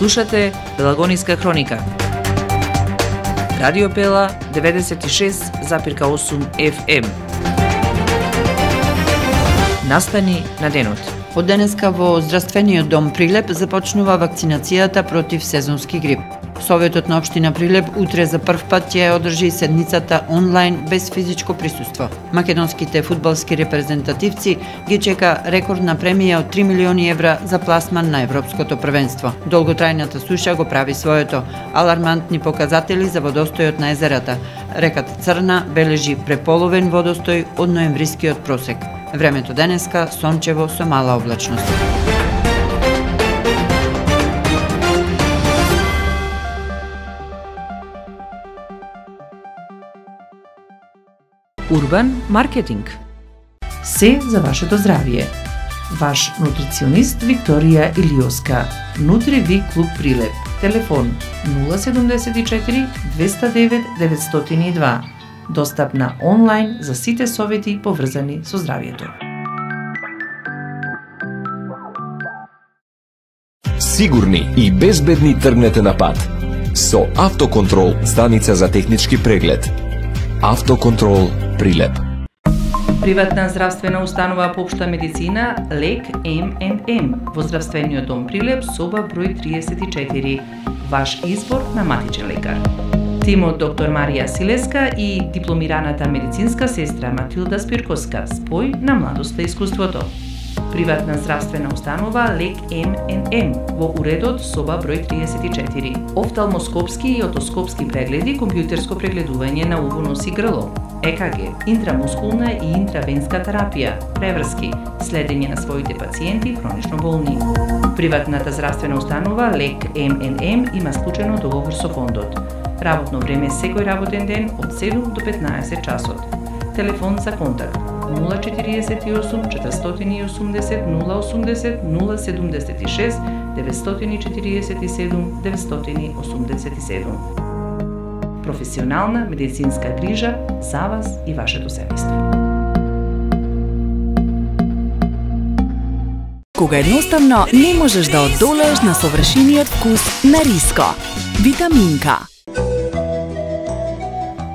Слушате Пелагониска хроника. Радио Пела 96,8 FM. Настани на денот. Од денеска во Здравствениот дом Прилеп започнува вакцинацијата против сезонски грип. Советот на општина Прилеп утре за прв пат ќе одржи седницата онлайн без физичко присуство. Македонските фудбалски репрезентативци ги чека рекордна премија од 3 милиони евра за пласман на Европското првенство. Долготрајната суша го прави своето. Алармантни показатели за водостојот на езерата. Реката Црна бележи преполовен водостој од ноемврискиот просек. Времето денеска сончево со мала облачност. Урбан маркетинг. Се за вашето здравје. Ваш нутриционист Викторија Илиоска. Нутриви клуб Прилеп. Телефон 074 209 902. Достапна онлайн за сите совети поврзани со здравјето. Сигурни и безбедни тргнете на пат. Со Автоконтрол, станица за технички преглед. Автоконтрол Прилеп. Приватна здравствена установа по општа медицина Лек МНМ во Здравствениот дом Прилеп, соба број 34. Ваш избор на матичен лекар. Тимот доктор Марија Силеска и дипломираната медицинска сестра Матилда Спирковска, спој на младоста и искуството. Приватна здравствена установа Лек МНМ во уредот соба број 34. Офталмоскопски и отоскопски прегледи, компјутерско прегледување на уво, нос и грло, ЕКГ, интрамускулна и интравенска терапија, преврски, следење на своите пациенти хронично болни. Приватната здравствена установа Лек МНМ има склучено договор со фондот. Работно време секој работен ден од 7 до 15 часот. Телефон за контакт 048 480 080 076 947 987. Професионална медицинска грижа за вас и вашето семејство. Кога едноставно не можеш да одолееш на совршениот вкус на риско. Витаминка.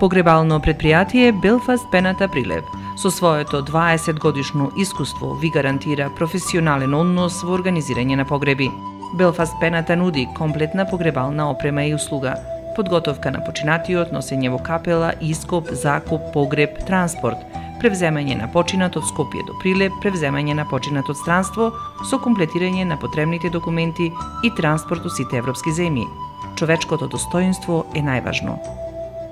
Погребално предпријатие Белфаст Пената Прилеп со своето 20 годишно искуство ви гарантира професионален однос во организирање на погреби. Белфаст Пената нуди комплетна погребална опрема и услуга, подготовка на починатиот, носење во капела, ископ, закуп, погреб, транспорт, превземање на починат од Скопје до Прилеп, превземање на починат од странство со комплетирање на потребните документи и транспорт у сите европски земји. Човечкото достоинство е најважно.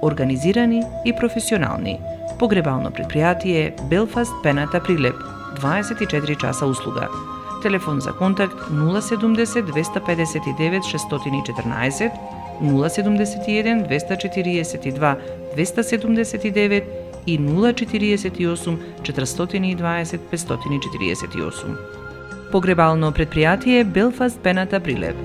Организирани и професионални. Погребално предпријатие Белфаст Пената Прилеп. 24 часа услуга. Телефон за контакт 070 259 614, 071 242 279 и 048 420 548. Погребално предпријатие Белфаст Пената Прилеп.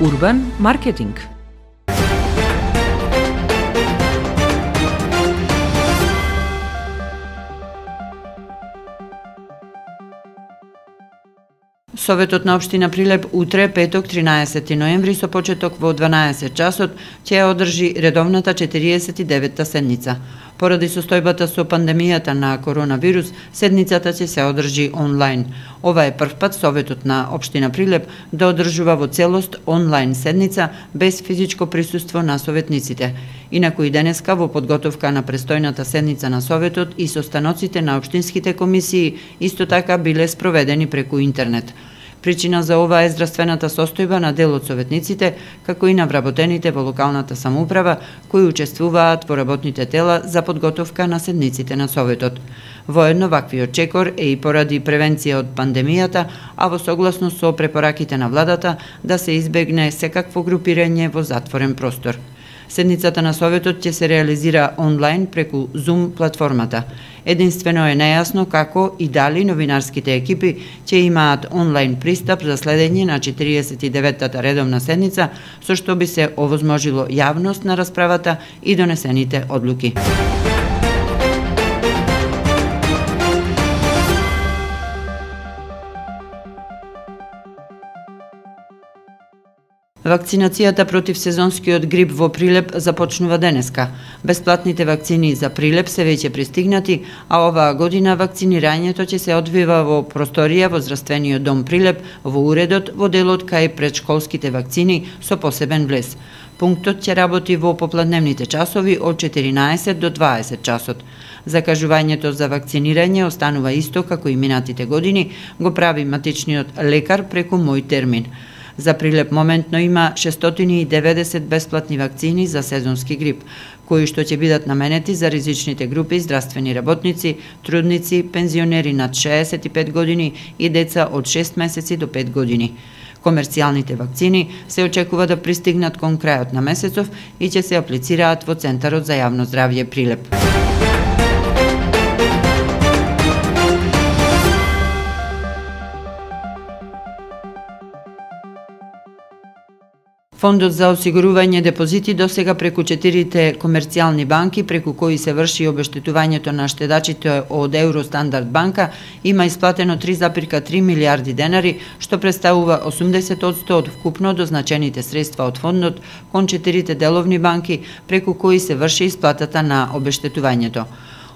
Урбан маркетинг. Советот на општина Прилеп утре, петок, 13 ноември, со почеток во 12 часот, ќе одржи редовната 49-та седница. Поради состојбата со пандемијата на коронавирус, седницата ќе се одржи онлайн. Ова е прв пат Советот на општина Прилеп да одржува во целост онлайн седница без физичко присуство на советниците. Инаку и денеска во подготовка на престојната седница на Советот и состаноците на општинските комисии исто така биле спроведени преку интернет. Причина за ова е здравствената состојба на дел од советниците, како и на вработените во локалната самоуправа, кои учествуваат во работните тела за подготовка на седниците на Советот. Воедно ваквиот чекор е и поради превенција од пандемијата, а во согласност со препораките на владата да се избегне секакво групирање во затворен простор. Седницата на Советот ќе се реализира онлайн преку Zoom платформата. Единствено е нејасно како и дали новинарските екипи ќе имаат онлайн пристап за следење на 49-та редовна седница, со што би се овозможило јавност на расправата и донесените одлуки. Вакцинацијата против сезонскиот грип во Прилеп започнува денеска. Бесплатните вакцини за Прилеп се веќе пристигнати, а оваа година вакцинирањето ќе се одвива во просторија во здравствениот дом Прилеп, во уредот, во делот кај предшколските вакцини со посебен влез. Пунктот ќе работи во попладневните часови од 14 до 20 часот. Закажувањето за вакцинирање останува исто како и минатите години, го прави матичниот лекар преку Мој термин. За Прилеп моментно има 690 бесплатни вакцини за сезонски грип, кои што ќе бидат наменети за ризичните групи здравствени работници, трудници, пензионери над 65 години и деца од 6 месеци до 5 години. Комерцијалните вакцини се очекува да пристигнат кон крајот на месецов и ќе се аплицираат во Центарот за јавно здравје Прилеп. Фондот за осигурување депозити досега преку 4 комерцијални банки, преку кои се врши обештетувањето на штедачите од Евростандард банка, има исплатено 3,3 милиарди денари, што представува 80% од вкупно дозначените средства од фондот кон 4 деловни банки, преку кои се врши исплатата на обештетувањето.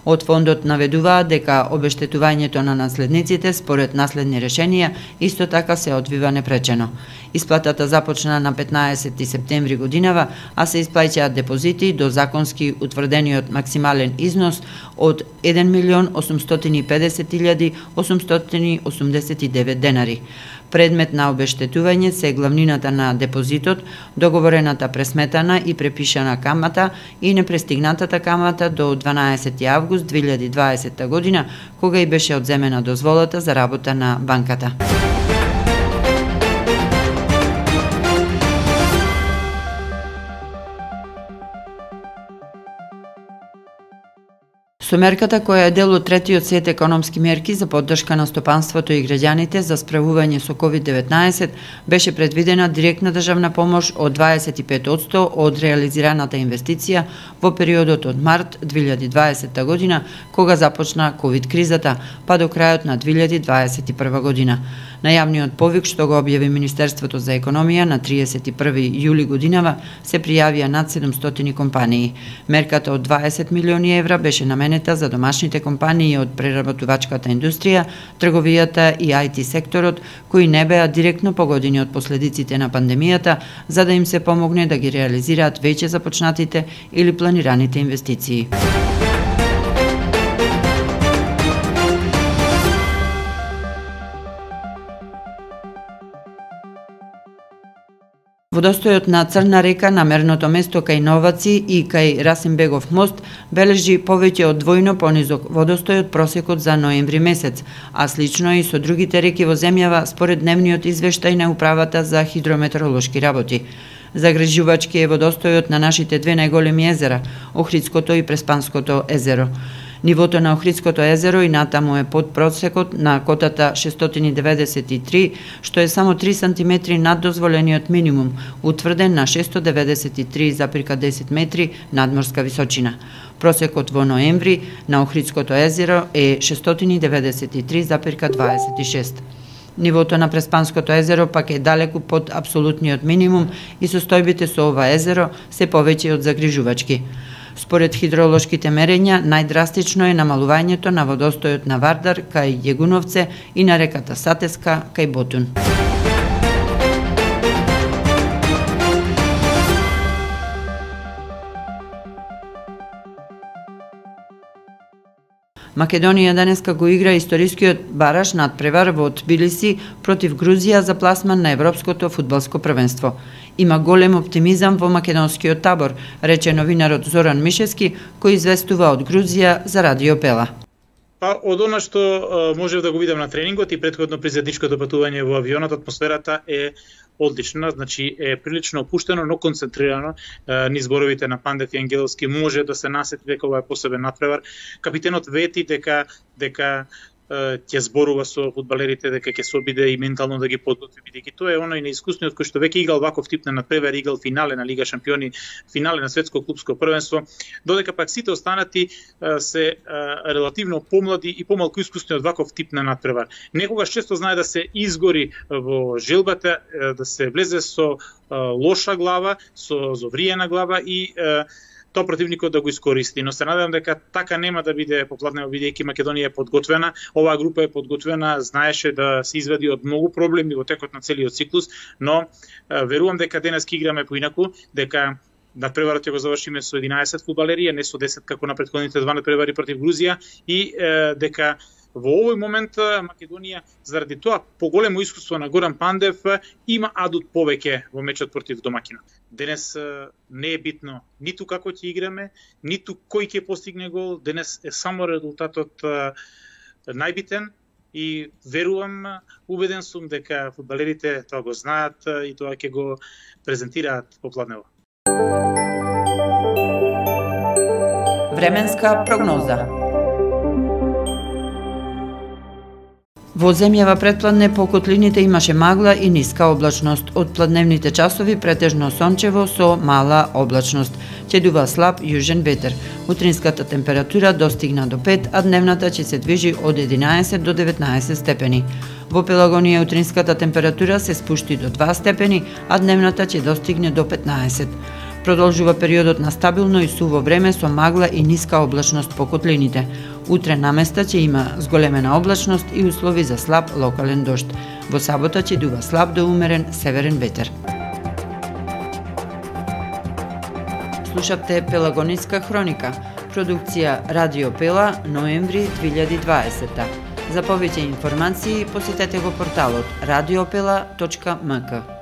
Од фондот наведуваат дека обештетувањето на наследниците според наследни решенија исто така се одвива непречено. Исплатата започна на 15 септември годинава, а се исплаќаат депозити до законски утврдениот максимален износ од 1.850.889 денари. Предмет на обештетување се главнината на депозитот, договорената пресметана и препишана камата и непрестигнатата камата до 12 август 2020 година, кога и беше одземена дозволата за работа на банката. Со мерката која е дел од третиот сет економски мерки за поддршка на стопанството и граѓаните за справување со COVID-19, беше предвидена директна државна помош од 25% од реализираната инвестиција во периодот од март 2020 година, кога започна COVID-кризата, па до крајот на 2021 година. На јавниот повик што го објави Министерството за економија на 31 јули годинава се пријавија над 700 компании. Мерката од 20 милиони евра беше наменета за домашните компании од преработувачката индустрија, трговијата и IT секторот, кои не беа директно погодени од последиците на пандемијата, за да им се помогне да ги реализираат веќе започнатите или планираните инвестиции. Водостојот на Црна река на мерното место кај Новаци и кај Расимбегов мост бележи повеќе од двојно понизок водостој од просекот за ноември месец, а слично и со другите реки во земјава според дневниот извештај на Управата за хидрометеоролошки работи. Загрижувачки е водостојот на нашите две најголеми езера, Охридското и Преспанското езеро. Нивото на Охридското езеро и натаму е под просекот на котата 693, што е само 3 см над дозволениот минимум, утврден на 693,10 метри надморска височина. Просекот во ноември на Охридското езеро е 693,26. Нивото на Преспанското езеро пак е далеку под апсолутниот минимум и состојбите со ова езеро се повеќе од загрижувачки. Според хидролошките мерења, најдрастично е намалувањето на водостојот на Вардар кај Јегуновце и на реката Сатеска кај Ботун. Македонија денеска го игра историскиот бараш надпревар во Тбилиси против Грузија за пласман на Европското фудбалско првенство. Има голем оптимизам во македонскиот табор, рече новинарот Зоран Мишевски, кој известува од Грузија за Радио Пела. Од она што можев да го видам на тренингот и претходно при заедничкото патување во авионот, атмосферата е одлична, значи е прилично опуштено, но концентрирано. Низ зборовите на Пандев и Ангеловски може да се насети дека ова е посебен надпревар. Капитенот вети дека ќе зборува со фудбалерите, дека ќе се обиде и ментално да ги подготви, бидејќи тоа е оној неискусниот кој што веќе играл ваков тип на надпревар, играл финале на Лига шампиони, финале на светско клупско првенство, додека пак сите останати се релативно помлади и помалку искусни од ваков тип на надпревар. Некогаш често знае да се изгори во желбата, да се влезе со лоша глава, со зовриена глава и тоа противникот да го искористи, но се надевам дека така нема да биде попладнево, бидејќи Македонија е подготвена, оваа група е подготвена, знаеше да се извади од многу проблеми во текот на целиот циклус, но верувам дека денес ќе играме поинаку, дека надпреварот ќе го завршиме со 11 фудбалери, не со 10 како на претходните два надпревари против Грузија и дека во овој момент Македонија, заради тоа поголемо искуство на Горан Пандев, има адут повеќе во мечот против домакинот. Денес не е битно ниту како ќе играме, ниту кој ќе постигне гол, денес е само резултатот најбитен и верувам, убеден сум дека фудбалерите тоа го знаат и тоа ќе го презентираат попладнево. Временска прогноза. Во земјава предпладне по котлините имаше магла и ниска облачност. Од пладневните часови претежно сончево со мала облачност. Ќе дува слаб јужен ветер. Утринската температура достигна до 5, а дневната ќе се движи од 11 до 19 степени. Во Пелагонија утринската температура се спушти до 2 степени, а дневната ќе достигне до 15. Продолжува периодот на стабилно и суво време со магла и ниска облачност по котлините. Утре наместа ќе има зголемена облачност и услови за слаб локален дожд. Во сабота ќе дува слаб до умерен северен ветер. Слушавте Пелагониска хроника. Продукција Радио Пела, ноември 2020. За повеќе информации посетете го порталот radiopela.mk.